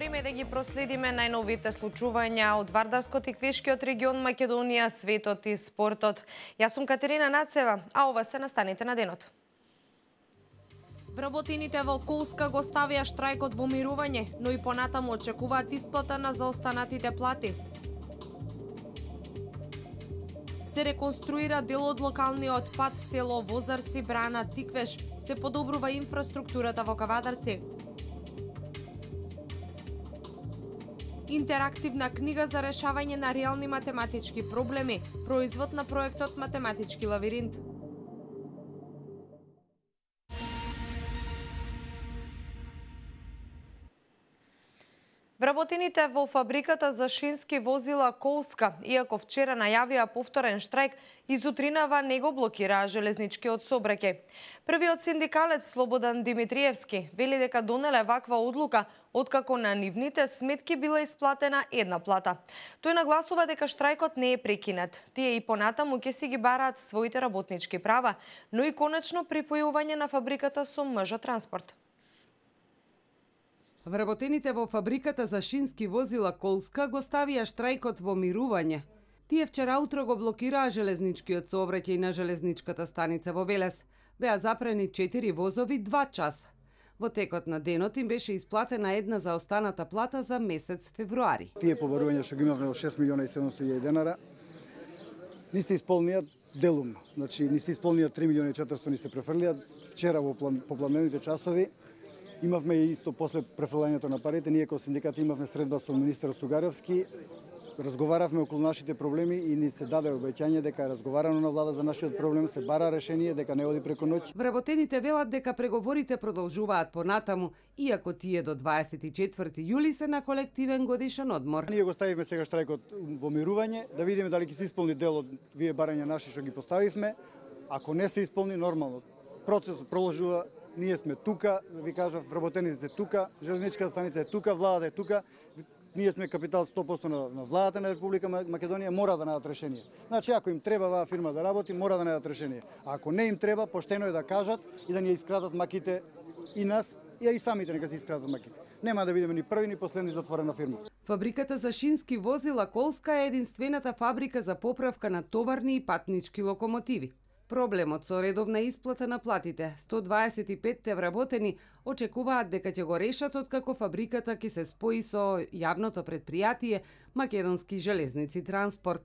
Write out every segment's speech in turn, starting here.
Време да ги проследиме најновите случувања од Вардарскот и Квешкиот регион, Македонија, светот и спортот. Јас сум Катерина Нацева, а ова се настаните на денот. Вработените во Колска го ставија штрајкот во мирување, но и понатаму очекуваат исплата на заостанатите плати. Се реконструира дел од локалниот пат село Возарци, Брана, Тиквеш, се подобрува инфраструктурата во Кавадарци. Интерактивна книга за решавање на реални математички проблеми, производ на проектот Математички лавиринт. Вработените во фабриката за шински возила Колска, иако вчера најавија повторен штрајк, изутринава не го блокираа железничкиот сообраќај. Првиот синдикалец Слободан Димитриевски вели дека донеле ваква одлука откако на нивните сметки била исплатена една плата. Тој нагласува дека штрајкот не е прекинат. Тие и понатаму ќе си ги бараат своите работнички права, но и конечно припојување на фабриката со МЖ Транспорт. Вработените во фабриката за шински возила Колска го ставија штрајкот во мирување. Тие вчера утро го блокираа железничкиот сообраќај на железничката станица во Велес. Беа запрени 4 возови 2 часа. Во текот на денот им беше исплатена една заостаната плата за месец февруари. Тие побарувања што ги имавме од 6 милиона и 700 денара ни се исполнија делумно. Значи ни се исполнија 3 милиона и 400 ни се префрлија. Вчера во попладневните часови имавме исто после префрлањето на парите, ние како синдикат имавме средба со министерот Сугаревски, разговаравме околу нашите проблеми и ни се даде обеќање дека е разговарано на влада за нашиот проблем, се бара решение, дека не оди преку ноќ. Вработените велат дека преговорите продолжуваат понатаму, иако тие до 24 јули се на колективен годишен одмор. Ние го ставивме сега штрајкот во мирување, да видиме дали ќе се исполни дел од вие барања наши што ги поставивме. Ако не се исполни, нормално, процесот продолжува. Ние сме тука, ви кажав, вработените се тука, железничката станица е тука, владата е тука. Ние сме капитал 100% на владата на Република Македонија, мора да најдат решение. Значи, ако им треба оваа фирма да работи, мора да најдат решение. А ако не им треба, поштено е да кажат и да ни искрадат маките и нас, и самите нека се искрадат маките. Нема да бидеме ни први ни последни затворена фирма. Фабриката за шински возила Колска е единствената фабрика за поправка на товарни и патнички локомотиви. Проблемот со редовна исплата на платите, 125 вработени очекуваат дека ќе го решат откако фабриката ќе се спои со јавното предпријатие Македонски железници транспорт.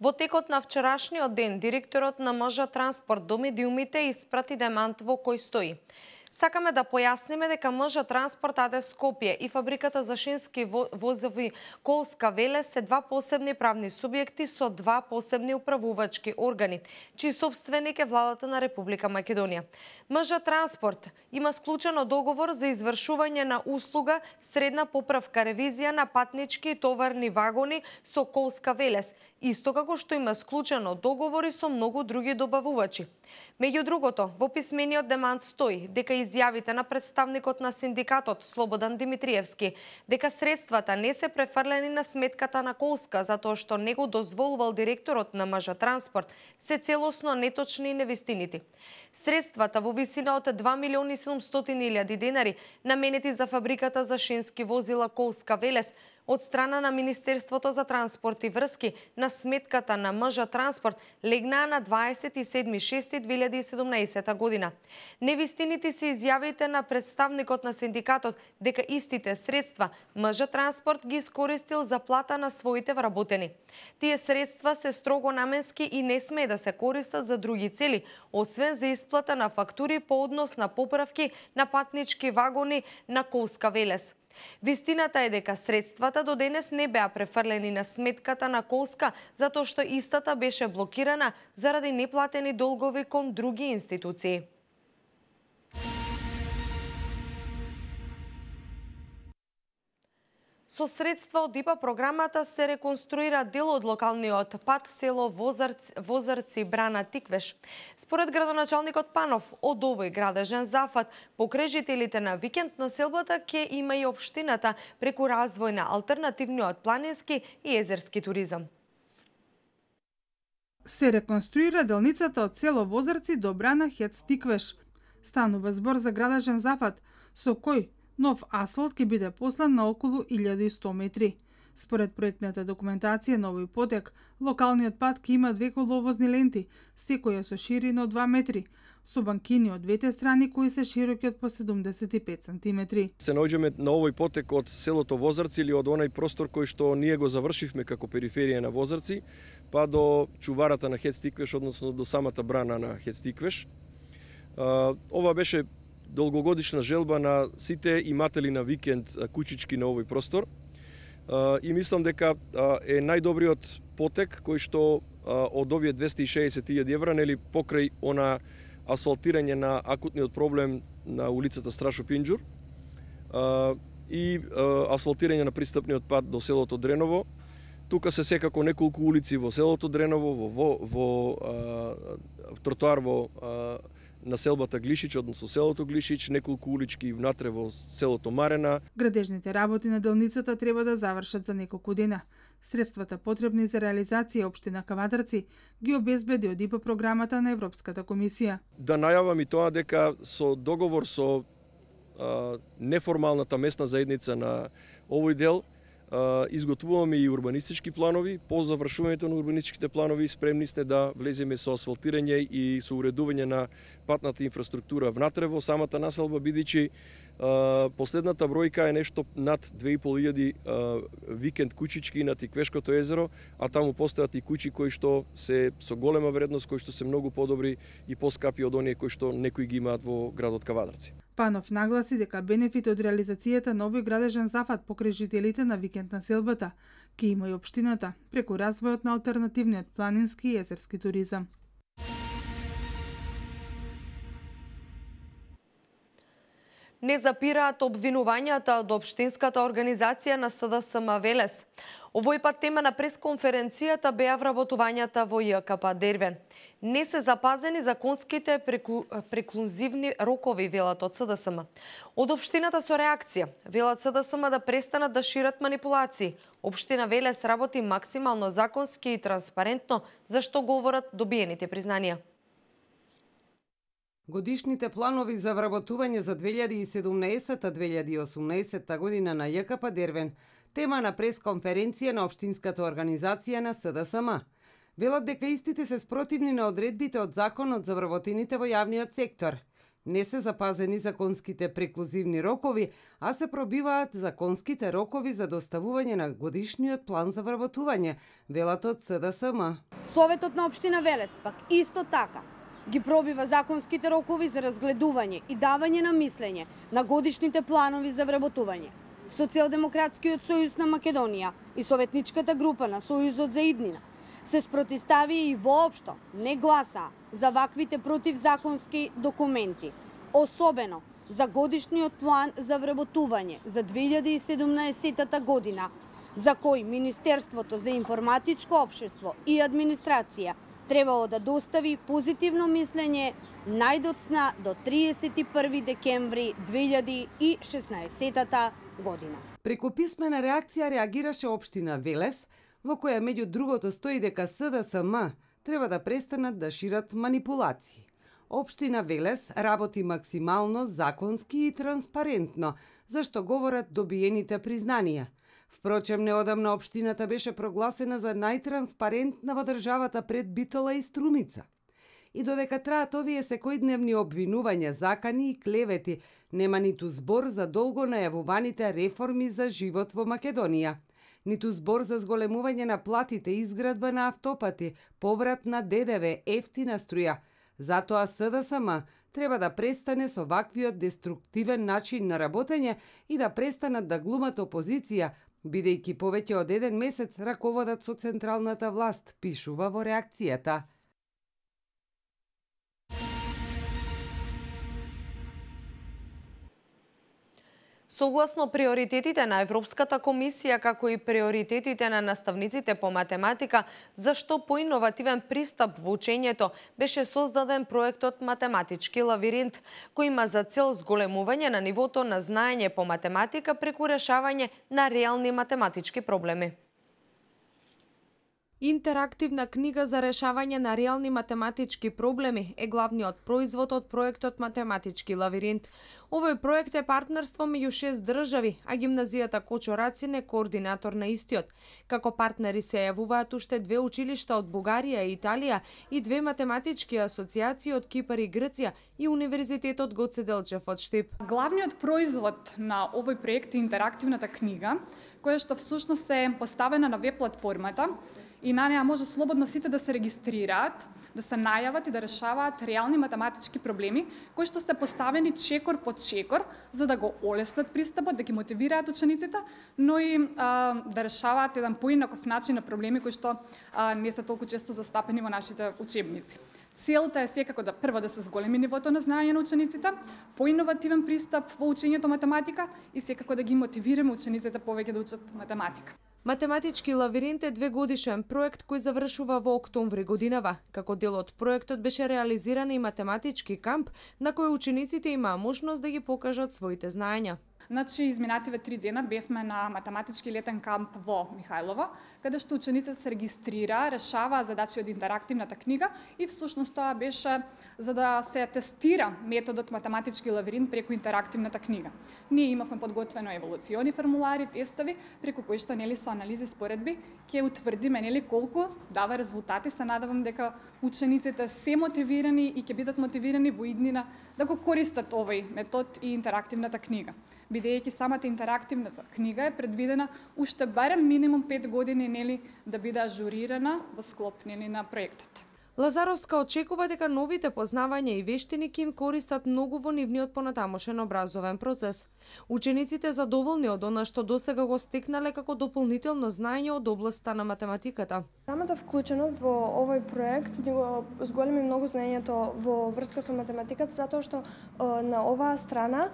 Во текот на вчерашниот ден, директорот на МЖ Транспорт до медиумите испрати демант во кој стои: сакаме да појасниме дека МЖ Транспорт АД Скопје и фабриката за шински возови Колска Велес се два посебни правни субјекти со два посебни управувачки органи, чиј собственик е владата на Република Македонија. МЖ Транспорт има склучено договор за извршување на услуга средна поправка ревизија на патнички и товарни вагони со Колска Велес, исто како што има склучено договори со многу други добавувачи. Меѓу другото, во писмениот демант стои дека изјавите на представникот на синдикатот Слободан Димитриевски дека средствата не се префрлени на сметката на Колска затоа што не го дозволувал директорот на МЖ Транспорт се целосно неточни и невистинити. Средствата во висина од 2 милиони 700 илјади денари наменети за фабриката за шински возила Колска Велес од страна на Министерството за транспорт и врски на сметката на МЖ Транспорт легнаа на 27.6.2017 година. Невистините се изјавите на представникот на синдикатот дека истите средства МЖ Транспорт ги искористил за плата на своите вработени. Тие средства се строго наменски и не смее да се користат за други цели, освен за исплата на фактури по однос на поправки на патнички вагони на Колска Велес. Вистината е дека средствата до денес не беа префрлени на сметката на Колска, затоа што истата беше блокирана заради неплатени долгови кон други институции. Со средства од ИПА програмата се реконструира дел од локалниот пат село Возарци, Брана, Тиквеш. Според градоначалникот Панов, од овој градежен зафат, покрај жителите на викенд населбата ќе има и општината преку развој на алтернативниот планински и езерски туризам. Се реконструира делницата од село Возарци до брана Хец-Тиквеш. Станува збор за градежен зафат, со кој нов асфалт ќе биде послан на околу 1100 метри. Според проектната документација на овој потек, локалниот пат ќе има 2 коловозни ленти, секоја со ширина од 2 метри, со банкини од двете страни кои се широки од по 75 сантиметри. Се наоѓаме на овој потек од селото Возарци или од онај простор кој што ние го завршивме како периферија на Возарци, па до чуварата на Хец-Тиквеш, односно до самата брана на Хец-Тиквеш. Ова беше долгогодишна желба на сите иматели на викенд кучички на овој простор. И мислам дека е најдобриот потек кој што од овие 260.000 евра, нели, покрај она асфалтирање на акутниот проблем на улицата Страшо Пинџур и асфалтирање на пристапниот пат до селото Дреново. Тука се секако неколку улици во селото Дреново, во тротоар во населбата Глишич, односно селото Глишич, неколку улички внатре во селото Марена. Градежните работи на делницата треба да завршат за неколку дена. Средствата потребни за реализација општина Кавадарци ги обезбеди од ИПА програмата на Европската комисија. Да најавам и тоа дека со договор со неформалната местна заедница на овој дел изготвуваме и урбанистички планови. По завршувањето на урбанистичките планови спремни сте да влеземе со асфалтирање и со уредување на патната инфраструктура внатре во самата населба, бидејќи последната бројка е нешто над 2500 викенд кучички на Тиквешкото езеро, а таму постојат и куќи кои што се со голема вредност, кои што се многу подобри и поскапи од оние кои што некои ги имаат во градот Кавадарци. Панов нагласи дека бенефит од реализацијата на овој градежен зафат покрај жителите на викенд населбата ќе има и општината преку развојот на алтернативниот планински и езерски туризам. Не запираат обвинувањата од општинската организација на СДСМ Велес. Овој пат тема на пресконференцијата беа вработувањата во ЈКП Дервен. Не се запазени законските преклузивни рокови, велат од СДСМ. Од општината со реакција, велат СДСМ да престанат да шират манипулации. Општина Велес работи максимално законски и транспарентно, зашто говорат добиените признанија. Годишните планови за вработување за 2017-2018 година на ЈКП Дервен, тема на пресконференција на општинската организација на СДСМ. Велат дека истите се спротивни на одредбите од Законот за вработените во јавниот сектор. Не се запазени законските преклузивни рокови, а се пробиваат законските рокови за доставување на годишниот план за вработување, велат од СДСМ. Советот на општина Велес пак исто така ги пробива законските рокови за разгледување и давање на мислење на годишните планови за вработување. Социјалдемократскиот сојуз на Македонија и советничката група на Сојузот за иднина се спротистави и воопшто не гласа за ваквите противзаконски документи, особено за годишниот план за вработување за 2017 година, за кој Министерството за информатичко општество и администрација требало да достави позитивно мислење најдоцна до 31 декември 2016 година. Преку писмена реакција реагираше општина Велес, во која меѓу другото стои дека СДСМ треба да престанат да шират манипулации. Општина Велес работи максимално законски и транспарентно, зашто говорат добиените признанија. Впрочем, неодамна општината беше прогласена за најтранспарентна во државата пред Битола и Струмица. И додека траат овие секојдневни обвинувања, закани и клевети, нема ниту збор за долго најавуваните реформи за живот во Македонија, ниту збор за зголемување на платите, изградба на автопати, поврат на ДДВ, ефтина струја. Затоа СДСМ треба да престане со ваквиот деструктивен начин на работење и да престанат да глумат опозиција, бидејќи повеќе од 1 месец раководат со централната власт, пишува во реакцијата. Согласно приоритетите на Европската комисија, како и приоритетите на наставниците по математика, зашто поиновативен пристап во учењето беше создаден проектот Математички лавиринт, кој има за цел зголемување на нивото на знаење по математика преку решавање на реални математички проблеми. Интерактивна книга за решавање на реални математички проблеми е главниот производ од проектот Математички лавиринт. Овој проект е партнерство меѓу 6 држави, а гимназијата Кочо Рацин е координатор на истиот. Како партнери се јавуваат уште 2 училишта од Бугарија и Италија и 2 математички асоциации од Кипар и Грција и Универзитетот Гоце Делчев од Штип. Главниот производ на овој проект е интерактивната книга, која што всушност е поставена на веб платформата и на неа може слободно сите да се регистрираат, да се најават и да решаваат реални математички проблеми кои што се поставени чекор по чекор за да го олеснат пристапот, да ги мотивираат учениците, но и да решаваат еден поинаков начин на проблеми кои што не се толку често застапени во нашите учебници. Целта е секако да прво да се зголеми нивото на знаење на учениците, поиновативен пристап во учењето математика и секако да ги мотивираме учениците повеќе да учат математика. Математички лавиринт е 2-годишен проект кој завршува во октомври годинава. Како дел од проектот беше реализиран и математички камп на кој учениците имаа можност да ги покажат своите знаења. Значи, изминативе 3 дена бевме на математички летен камп во Михајлово, каде што учениците се регистрира, решаваа задачи од интерактивната книга и всушност тоа беше за да се тестира методот математички лавиринт преку интерактивната книга. Ние имавме подготвено еволуциони формулари, тестови, преку кои што нели со анализи споредби ќе утврдиме нели колку дава резултати. Се надевам дека учениците се мотивирани и ќе бидат мотивирани во иднина да го користат овој метод и интерактивната книга. Бидејќи самата интерактивната книга е предвидена уште барем минимум 5 години нели да биде ажурирана во склоп нели на проектот. Лазаровска очекува дека новите познавања и вештини ќе им користат многу во нивниот понатамошен образовен процес. Учениците задоволни од она што досега го стекнале како дополнително знаење од областа на математиката. Самата вклученост во овој проект го зголеми многу знаењето во врска со математиката, затоа што на оваа страна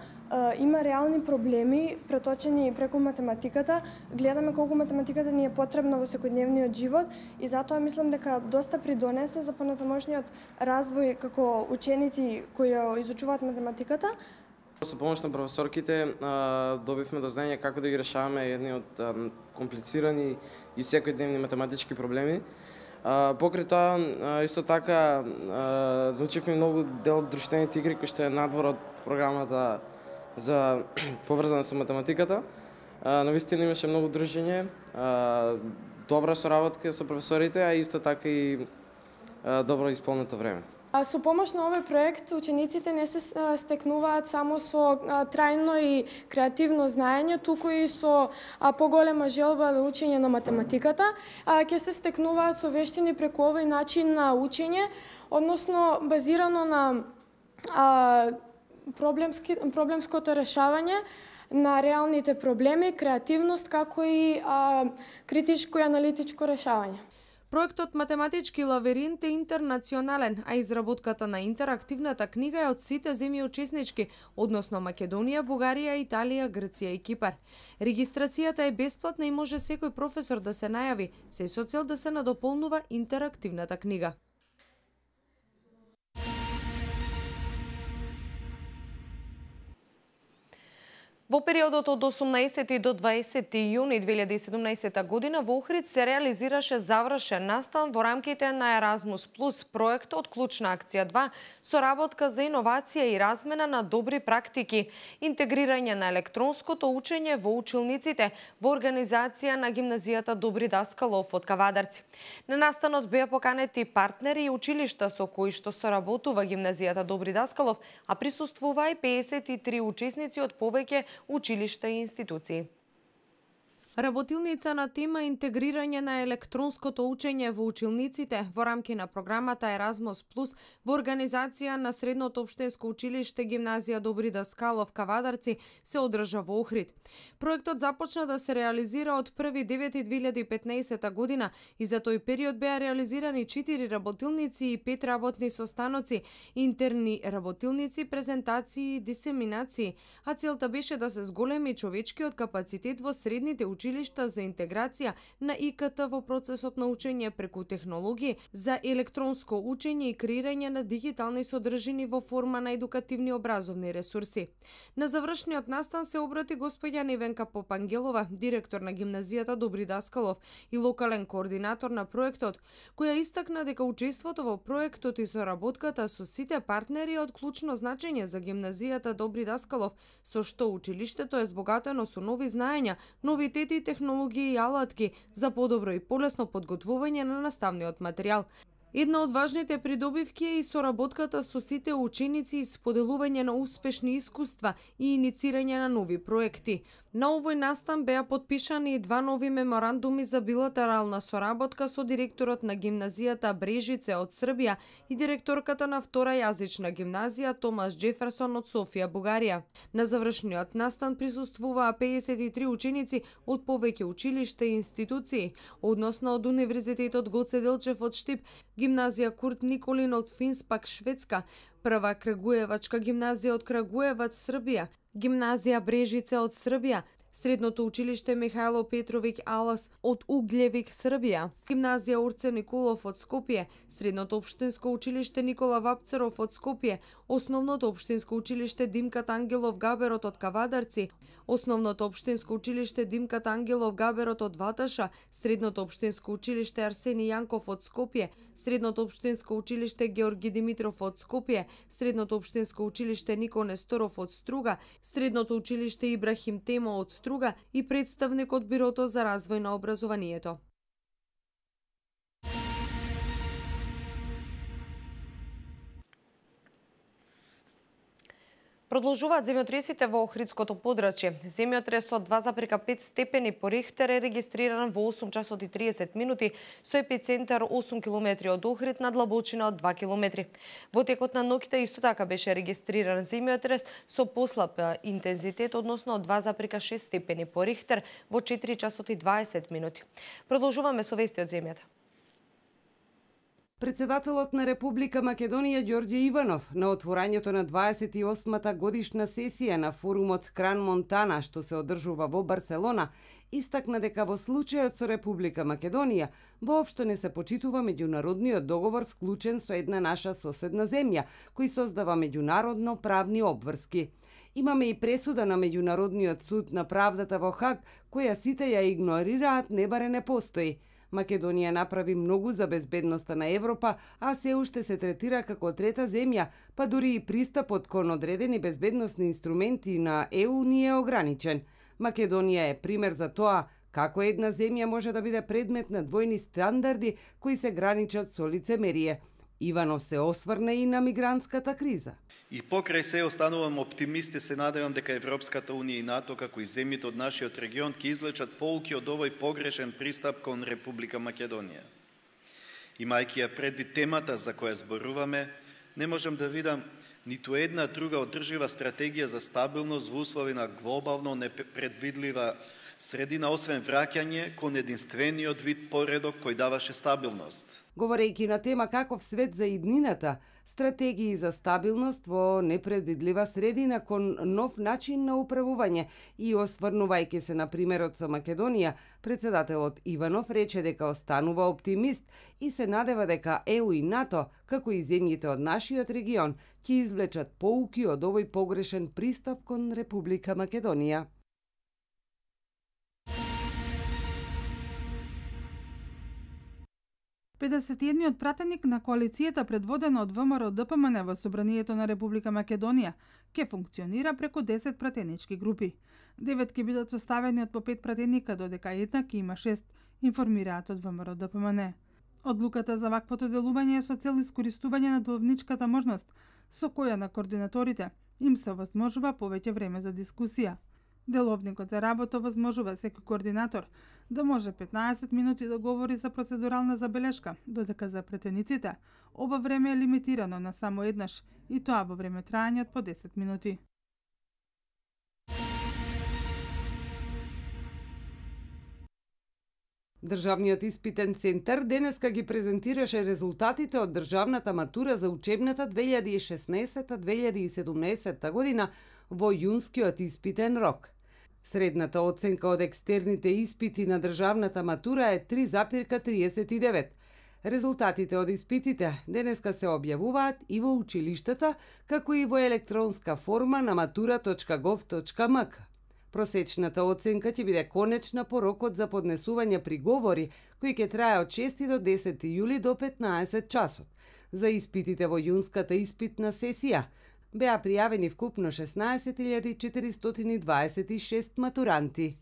има реални проблеми преточени преку математиката. Гледаме колку математиката ни е потребна во секојдневниот живот и затоа мислам дека доста придонесе за понатамошниот развој како ученици кои изучуваат математиката. Со помош на професорките добивме дознание како да ги решаваме едни од комплицирани и секојдневни математички проблеми. Покрај тоа, исто така, научивме многу дел од друштveните игри кои што е надвор од програмата за поврзана со математиката. Навистина имаше многу дружење, добра соработка со професорите, а исто така и добро исполнето време. Со помош на овој проект учениците не се стекнуваат само со трајно и креативно знаење, туку и со поголема желба за учење на математиката, ќе се стекнуваат со вештини преку овој начин на учење, односно базирано на проблемското решавање на реалните проблеми, креативност, како и критичко и аналитичко решавање. Проектот Математички лавиринт е интернационален, а изработката на интерактивната книга е од сите земји учеснички, односно Македонија, Бугарија, Италија, Грција и Кипар. Регистрацијата е бесплатна и може секој професор да се најави, се со цел да се надополнува интерактивната книга. Во периодот од 18 до 20 јуни 2017 година во Охрид се реализираше завршен настан во рамките на Еразмус Плюс проект од Клучна акција 2, соработка за иновација и размена на добри практики, интегрирање на електронското учење во училниците во организација на гимназијата Добри Даскалов од Кавадарци. На настанот беа поканети партнери и училишта со кои што соработува гимназијата Добри Даскалов, а присуствуваа и 53 учесници од повеќе училишта и институции. Работилница на тема интегрирање на електронското учење во училниците во рамки на програмата Еразмус Плюс во организација на Средното општинско училиште Гимназија Добри Даскалов Кавадарци се одржа во Охрид. Проектот започна да се реализира од 1.9.2015 година и за тој период беа реализирани 4 работилници и 5 работни состаноци, интерни работилници, презентации и дисеминации, а целта беше да се зголеми човечкиот капацитет во средните училишта училишта за интеграција на ИКТ во процесот на учење преку технологии за електронско учење и креирање на дигитални содржини во форма на едукативни образовни ресурси. На завршниот настан се обрати господја Невенка Попангелова, директор на гимназијата Добри Даскалов и локален координатор на проектот, која истакна дека учеството во проектот и соработката со сите партнери е од клучно значење за гимназијата Добри Даскалов, со што училиштето е збогатено со нови знаења, новитети, технологии и алатки за подобро и полесно подготвување на наставниот материјал. Една од важните придобивки е и соработката со сите ученици и споделување на успешни искуства и иницирање на нови проекти. На овој настан беа потпишани и 2 нови меморандуми за билатерална соработка со директорот на гимназијата Брежице од Србија и директорката на втора јазична гимназија Томас Джеферсон од Софија, Бугарија. На завршниот настан присуствуваа 53 ученици од повеќе училишта и институции, односно од Универзитетот Гоце Делчев од Штип, гимназија Курт Николин од Финспак, Шведска, Прва Крагуевачка гимназија од Крагуевац, Србија, гимназија Брежице од Србија, Средното училиште Михајло Петровиќ Алас од Углевик, Србија, гимназија Урце Николов од Скопје, Средното општинско училиште Никола Вапцеров од Скопје, Основното општинско училиште Димкат Ангелов Габерот од Кавадарци, Основното општинско училиште Димкат Ангелов Габерот од Ваташа, Средното општинско училиште Арсени Јанков од Скопје, Средното општинско училиште Георги Димитров од Скопје, Средното општинско училиште Нико Несторов од Струга, Средното училиште Ибрахим Темо од Струга и представник од Бирото за развој на образованието. Продолжуваат земјотресите во Охридското подрачје. Земјотрес од 2,5 степени по Рихтер е регистриран во 8 часот и 30 минути со епицентар 8 км од Охрид на длабочина од 2 км. Во текот на ноќта исто така беше регистриран земјотрес со послаб интензитет, односно од 2,6 степени по Рихтер во 4 часот и 20 минути. Продолжуваме со вести од земјата. Председателот на Република Македонија Ѓорѓе Иванов на отворањето на 28-та годишна сесија на форумот Кран Монтана, што се одржува во Барселона, истакна дека во случајот со Република Македонија воопшто не се почитува меѓународниот договор склучен со една наша соседна земја, кој создава меѓународно правни обврски. Имаме и пресуда на Меѓународниот суд на правдата во Хаг, која сите ја игнорираат, не баре не постои. Македонија направи многу за безбедноста на Европа, а се уште се третира како трета земја, па дури и пристапот кон одредени безбедносни инструменти на ЕУ не е ограничен. Македонија е пример за тоа како една земја може да биде предмет на двојни стандарди кои се граничат со лицемерие. Иванов се осврна и на мигрантската криза. И покрај се останувам оптимист и се надевам дека Европската Унија и НАТО, како и земјите од нашиот регион, ќе извлечат поуки од овој погрешен пристап кон Република Македонија. Имајќи ја предвид темата за која зборуваме, не можам да видам ниту една друга одржива стратегија за стабилност во услови на глобално непредвидлива средина, освен враќање кон единствениот вид поредок кој даваше стабилност. Говорејќи на тема каков свет за иднината, стратегии за стабилност во непредвидлива средина кон нов начин на управување и осврнувајќи се на примерот со Македонија, председателот Иванов рече дека останува оптимист и се надева дека ЕУ и НАТО, како и земјите од нашиот регион, ќе извлечат поуки од овој погрешен пристап кон Република Македонија. Педесетиедниот пратеник на коалицијата предводена од ВМРО ДПМН во Собранието на Република Македонија ќе функционира преку 10 пратенички групи. 9 ќе бидат составени од по 5 пратеника, додека една ќе има 6, информираат од ВМРО ДПМН. Одлуката за ваквото делување е со цел искористување на деловничката можност, со која на координаторите им се овозможува повеќе време за дискусија. Деловникот за работа возможува секој координатор да може 15 минути да говори за процедурална забелешка, додека за претениците ова време е лимитирано на само еднаш и тоа во време трајање од по 10 минути. Државниот испитен центар денеска ги презентираше резултатите од државната матура за учебната 2016-2017 година во јунскиот испитен рок. Средната оценка од екстерните испити на државната матура е 3,39. Резултатите од испитите денеска се објавуваат и во училиштата, како и во електронска форма на matura.gov.mk. Просечната оценка ќе биде конечна по рокот за поднесување приговори, кои ќе трае од 6 до 10 јули до 15 часот. За испитите во јунската испитна сесија беа пријавени вкупно 16.426 матуранти.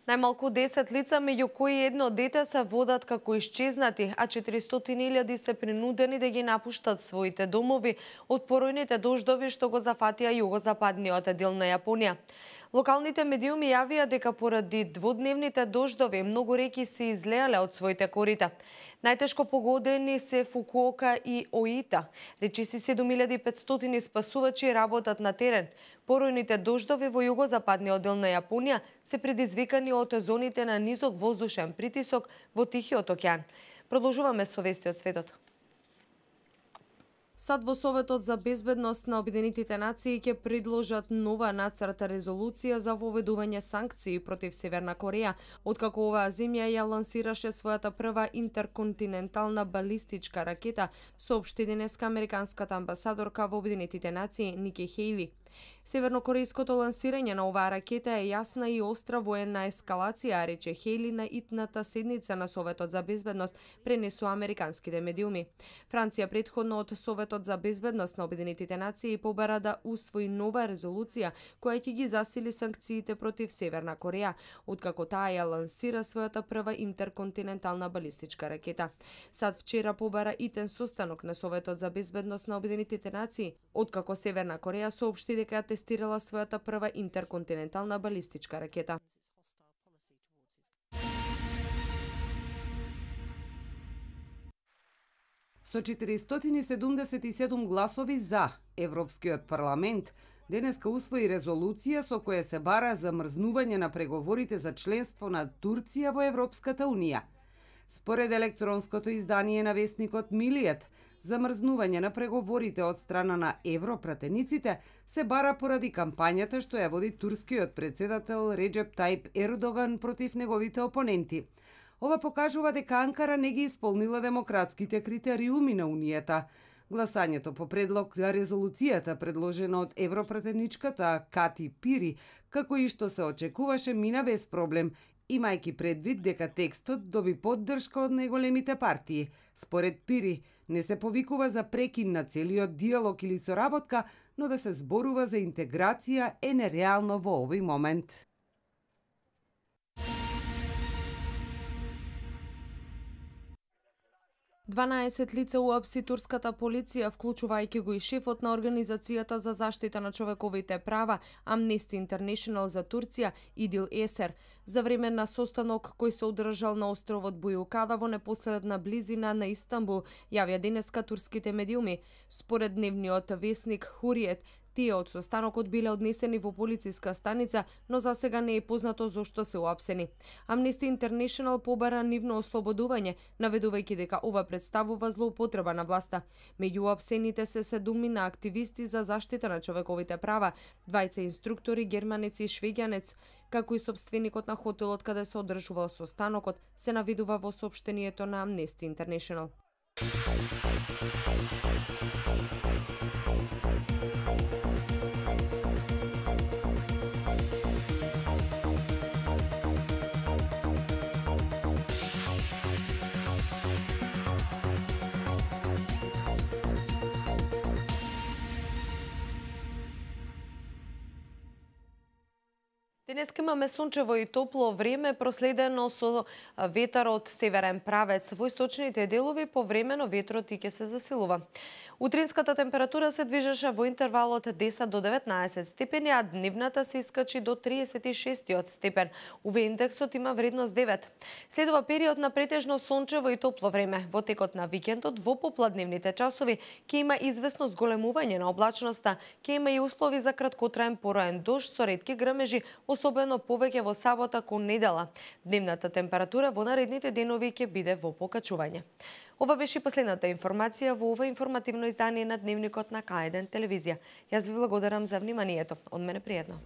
Најмалку 10 лица, меѓу кои едно дете, се водат како исчезнати, а 400.000 се принудени да ги напуштат своите домови од поројните дождови што го зафатија југозападниот дел на Јапонија. Локалните медиуми јавија дека поради дводневните дождови многу реки се излеале од своите корита. Најтешко погодени се Фукуока и Оита. Речиси 7500 спасувачи работат на терен. Поројните дождови во југозападниот дел на Јапонија се предизвикани од зоните на низок воздушен притисок во Тихиот океан. Продолжуваме со вести од светот. Сад во Советот за безбедност на Обединетите нации ќе предложат нова нацрта резолуција за воведување санкции против Северна Кореја, откако оваа земја ја лансираше својата прва интерконтинентална балистичка ракета, соопшти денеска американската амбасадорка во Обединетите нации Ники Хејли. Севернокорејското лансирање на оваа ракета е јасна и остра военна ескалација, рече Хејли на итната седница на Советот за безбедност, пренесу американските медиуми. Франција претходно од Советот за безбедност на Обединетите нации побара да усвои нова резолуција која ќе ги засили санкциите против Северна Кореја, откако таа ја лансира својата прва интерконтинентална балистичка ракета. Сад вчера побара итен состанок на Советот за безбедност на Обединетите нации, откако Северна Кореја соопшти дека ја тестирала својата прва интерконтинентална балистичка ракета. Со 477 гласови за, Европскиот парламент денеска усвои резолуција со која се бара замрзнување на преговорите за членство на Турција во Европската Унија. Според електронското издание на весникот Милијет, замрзнување на преговорите од страна на европратениците се бара поради кампањата што ја води турскиот председател Реджеп Тајип Ердоган против неговите опоненти. Ова покажува дека Анкара не ги исполнила демократските критериуми на Унијата. Гласањето по предлог на резолуцијата предложена од европратеничката Кати Пири, како и што се очекуваше, мина без проблем, имајќи предвид дека текстот доби поддршка од најголемите партии. Според Пири, не се повикува за прекин на целиот диалог или соработка, но да се зборува за интеграција е нереално во овој момент. Дванаесет лица уапси турската полиција, вклучувајќи го и шефот на Организацијата за заштита на човековите права Amnesty International за Турција Идил Есер, за време на состанок кој се одржал на островот Бујукада во непосредна близина на Истанбул, јавија денеска турските медиуми. Според дневниот весник Хуриет, тие од состанокот биле однесени во полициска станица, но за сега не е познато зошто се уапсени. Amnesty International побара нивно ослободување, наведувајќи дека ова представува злоупотреба на власта. Меѓу уапсените се 7 активисти за заштита на човековите права, 2 инструктори, германец и швеѓанец, како и сопственикот на хотелот каде се одржувал состанокот, се наведува во соопштението на Amnesty International. Денеска имаме сончево и топло време, проследено со ветар од северен правец. Во источните делови повремено ветрот и ќе се засилува. Утринската температура се движеше во интервалот 10 до 19 степени, а дневната се искачи до 36 степен. УВ индексот има вредност 9. Следува период на претежно сончево и топло време. Во текот на викендот, во попладневните часови, ќе има известно зголемување на облачноста, ќе има и услови за краткотраен пороен дожд со ретки грмежи, особено повеќе во сабота кон недела. Дневната температура во наредните денови ќе биде во покачување. Ова беше последната информација во ова информативно издание на Дневникот на К1 телевизија. Јас ви благодарам за вниманието. Од мене пријатно.